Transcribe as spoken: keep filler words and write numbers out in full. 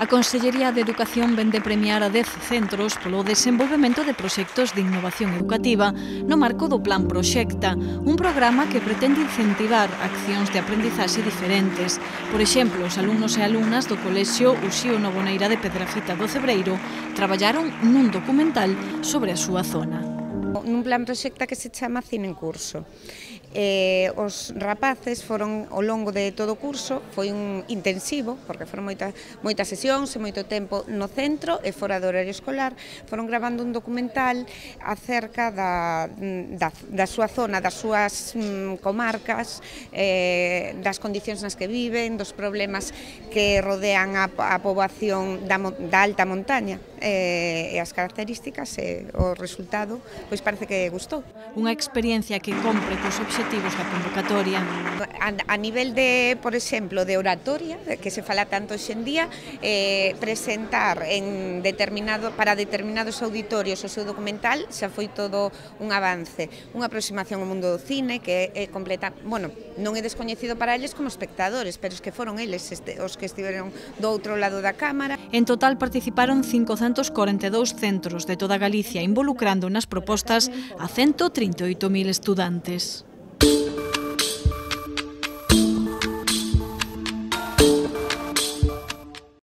A Consellería de Educación vén de premiar a dez centros polo desenvolvemento de proxectos de innovación educativa no marco do Plan Proxecta, un programa que pretende incentivar accións de aprendizaxe diferentes. Por exemplo, os alumnos e alumnas do Colexio Uxío Novoneira de Pedrafita do Cebreiro traballaron nun documental sobre a súa zona. Nun plan proxecta que se chama Cine en Curso. Eh, os rapaces foron ao longo de todo o curso, foi un intensivo, porque foron moitas, moitas sesións e moito tempo no centro e fora do horario escolar, foron gravando un documental acerca da, da, da súa zona, das súas mm, comarcas, eh, das condicións nas que viven, dos problemas que rodean a, a poboación da, da alta montaña eh, e as características e o resultado, pois parece que gustou. Unha experiencia que compre cos obxectivos da convocatoria. A, a nivel de, por exemplo, de oratoria, que se fala tanto hoxe en día, eh, presentar en determinado, para determinados auditorios o seu documental xa foi todo un avance, unha aproximación ao mundo do cine que é completa, bueno, non é descoñecido para eles como espectadores, pero es que foron eles este, os que estiveron do outro lado da cámara. En total participaron cincocentos corenta e dous centros de toda Galicia, involucrando nas propostas a ciento trinta e oito mil estudantes.